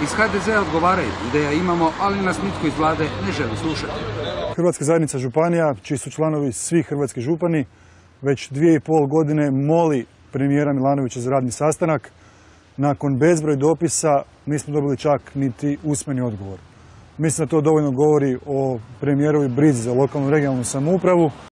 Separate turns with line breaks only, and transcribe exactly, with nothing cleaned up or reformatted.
Iz ha de zea odgovaraju, ideja imamo, ali nas nitko iz vlade ne želi slušati.
Hrvatska zajednica županija, čiji su članovi svi hrvatski župani, već dvije i pol godine moli premijera Milanovića za radni sastanak. Nakon bezbroj dopisa nismo dobili čak niti usmeni odgovor. Mislim da to dovoljno govori o premijerovoj brizi za lokalnu i regionalnu samoupravu.